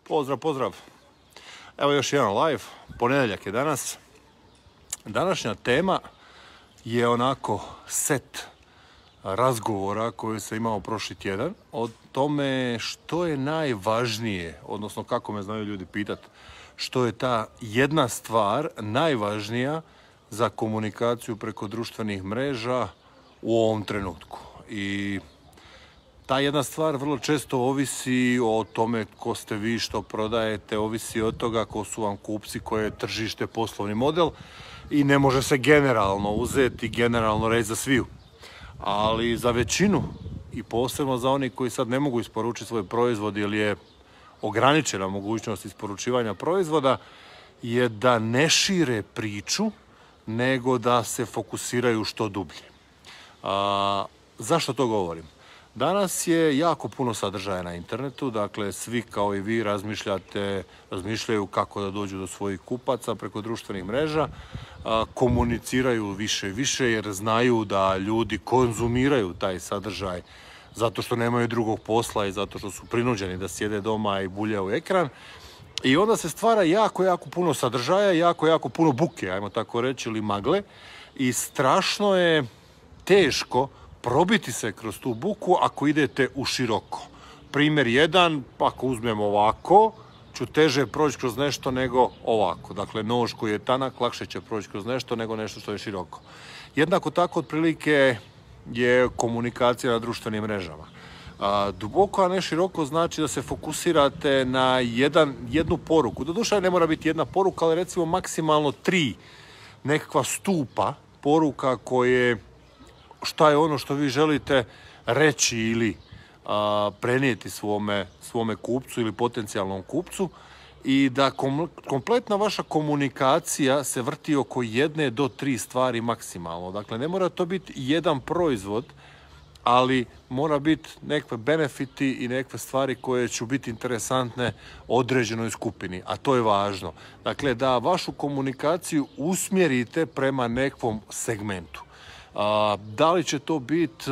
Pozdrav, pozdrav. Evo još jedan live, ponedjeljak je danas. Današnja tema je onako set razgovora koji sam imao prošli tjedan o tome što je najvažnije, odnosno kako me znaju ljudi pitati, što je ta jedna stvar najvažnija za komunikaciju preko društvenih mreža u ovom trenutku. I ta jedna stvar vrlo često ovisi o tome ko ste vi, što prodajete, ovisi od toga ko su vam kupci, koje je tržište, poslovni model i ne može se generalno uzeti, generalno reći za sviju. Ali za većinu i posebno za oni koji sad ne mogu isporučiti svoj proizvod jer je ograničena mogućnost isporučivanja proizvoda, je da ne šire priču, nego da se fokusiraju što dublje. Zašto to govorim? Danas je jako puno sadržaja na internetu, dakle svi kao i vi razmišljaju kako da dođu do svojih kupaca preko društvenih mreža, komuniciraju više i više jer znaju da ljudi konzumiraju taj sadržaj zato što nemaju drugog posla i zato što su prinuđeni da sjede doma i buljaju u ekran. I onda se stvara jako puno sadržaja, jako puno buke, ajmo tako reći, ili magle. I strašno je teško probiti se kroz tu buku ako idete u široko. Primjer jedan, ako uzmemo ovako, ću teže proći kroz nešto nego ovako. Dakle, nož koji je tanak, lakše će proći kroz nešto nego nešto što je široko. Jednako tako, otprilike, je komunikacija na društvenim mrežama. Duboko, a ne široko, znači da se fokusirate na jednu poruku. Doduše ne mora biti jedna poruka, ali recimo maksimalno 3 nekakva stupa poruka koje šta je ono što vi želite reći ili prenijeti svome kupcu ili potencijalnom kupcu i da kompletna vaša komunikacija se vrti oko 1 do 3 stvari maksimalno. Dakle, ne mora to biti jedan proizvod, ali mora biti nekakve benefiti i nekakve stvari koje će biti interesantne određenoj skupini, a to je važno. Dakle, da vašu komunikaciju usmjerite prema nekakvom segmentu. Da li će to biti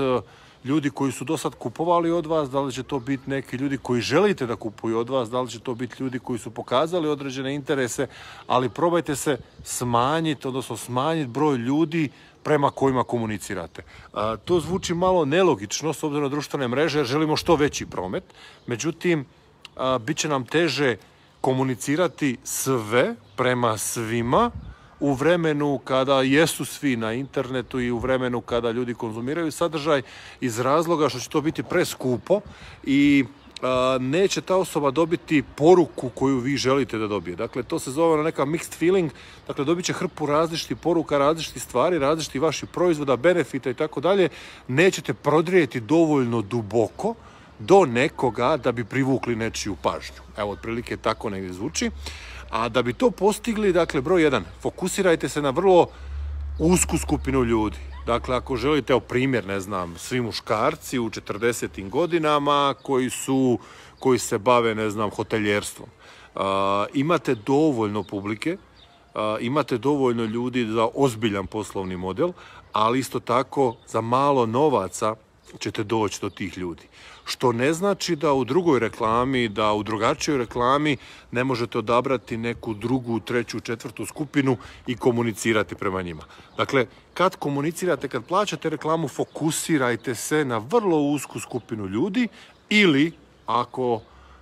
ljudi koji su do sad kupovali od vas, da li će to biti neki ljudi koji želite da kupuju od vas, da li će to biti ljudi koji su pokazali određene interese, ali probajte se smanjiti broj ljudi prema kojima komunicirate. To zvuči malo nelogično s obzirom na društvene mreže jer želimo što veći promet, međutim, bit će nam teže komunicirati sve prema svima u vremenu kada jesu svi na internetu i u vremenu kada ljudi konzumiraju sadržaj iz razloga što će to biti preskupo i neće ta osoba dobiti poruku koju vi želite da dobije. Dakle, to se zove neka mixed feeling, dakle dobit će hrpu različitih poruka, različitih stvari, različitih vaših proizvoda, benefita i tako dalje. Nećete prodrijeti dovoljno duboko do nekoga da bi privukli nečiju pažnju. Evo, otprilike tako negdje zvuči. A da bi to postigli, dakle, broj 1, fokusirajte se na vrlo usku skupinu ljudi. Dakle, ako želite, evo primjer, ne znam, svi muškarci u 40. godinama koji se bave, ne znam, hoteljerstvom. Imate dovoljno publike, imate dovoljno ljudi za ozbiljan poslovni model, ali isto tako za malo novaca ćete doći do tih ljudi. Što ne znači da u drugoj reklami, da u drugačijoj reklami ne možete odabrati neku drugu, treću, četvrtu skupinu i komunicirati prema njima. Dakle, kad komunicirate, kad plaćate reklamu, fokusirajte se na vrlo usku skupinu ljudi ili, ako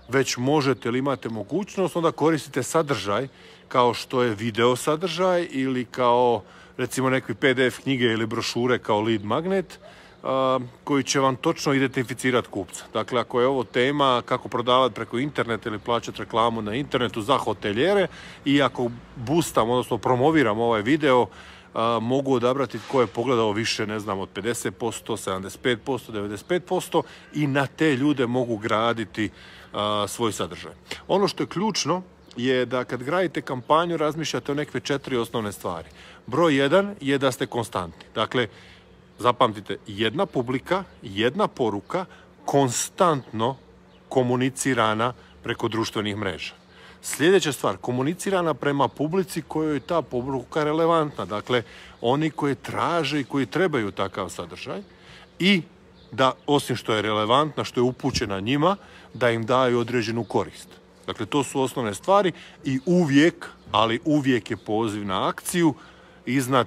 već možete ili imate mogućnost, onda koristite sadržaj kao što je video sadržaj ili kao, recimo, nekakvi PDF knjige ili brošure kao lead magnet, koji će vam točno identificirati kupca. Dakle, ako je ovo tema kako prodavati preko interneta ili plaćati reklamu na internetu za hotelijere i ako boostam, odnosno promoviram ovaj video, mogu odabrati tko je pogledao više, ne znam, od 50%, 75%, 95% i na te ljude mogu graditi svoj sadržaj. Ono što je ključno je da kad gradite kampanju razmišljate o nekakve 4 osnovne stvari. Broj 1 je da ste konstantni. Dakle, zapamtite, jedna publika, jedna poruka, konstantno komunicirana preko društvenih mreža. Sljedeća stvar, komunicirana prema publici kojoj je ta poruka relevantna. Dakle, oni koji traže i koji trebaju takav sadržaj i da, osim što je relevantna, što je upućena njima, da im daju određenu korist. Dakle, to su osnovne stvari i uvijek, ali uvijek je poziv na akciju. Iznad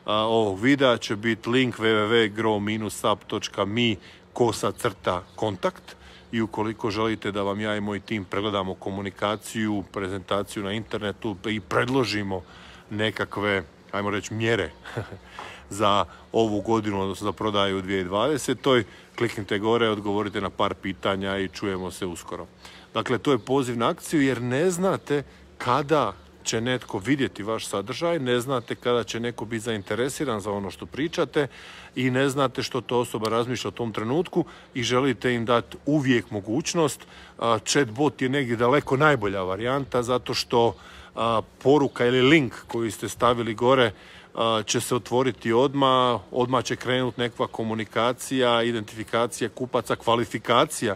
ovog videa će biti link www.grow-up.me/kontakt i ukoliko želite da vam ja i moj tim pregledamo komunikaciju, prezentaciju na internetu i predložimo nekakve, ajmo reći, mjere za ovu godinu, odnosno za prodaju u 2020. Kliknite gore, odgovorite na par pitanja i čujemo se uskoro. Dakle, to je poziv na akciju jer ne znate kada će netko vidjeti vaš sadržaj, ne znate kada će neko biti zainteresiran za ono što pričate i ne znate što to osoba razmišlja u tom trenutku i želite im dati uvijek mogućnost. Chatbot je negdje daleko najbolja varijanta zato što poruka ili link koji ste stavili gore će se otvoriti odmah će krenuti nekakva komunikacija, identifikacija kupaca, kvalifikacija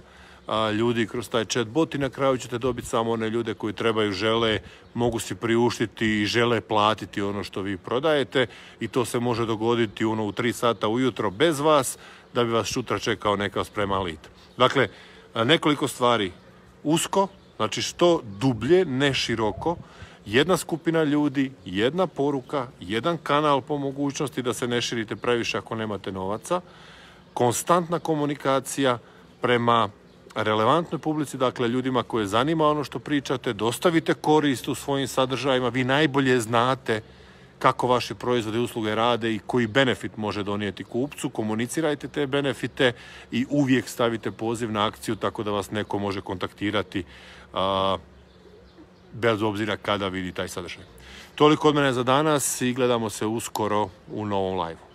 ljudi kroz taj chatbot i na kraju ćete dobiti samo one ljude koji trebaju, žele, mogu si priuštiti i žele platiti ono što vi prodajete i to se može dogoditi u 3 sata ujutro bez vas da bi vas sutra čekao neka spreman lead. Dakle, nekoliko stvari usko, znači što dublje, ne široko, jedna skupina ljudi, jedna poruka, jedan kanal po mogućnosti da se ne širite previše ako nemate novaca, konstantna komunikacija prema relevantnoj publici, dakle ljudima koje zanima ono što pričate, dostavite korist u svojim sadržajima, vi najbolje znate kako vaši proizvodi i usluge rade i koji benefit može donijeti kupcu, komunicirajte te benefite i uvijek stavite poziv na akciju tako da vas neko može kontaktirati bez obzira kada vidi taj sadržaj. Toliko od mene za danas i gledamo se uskoro u novom live.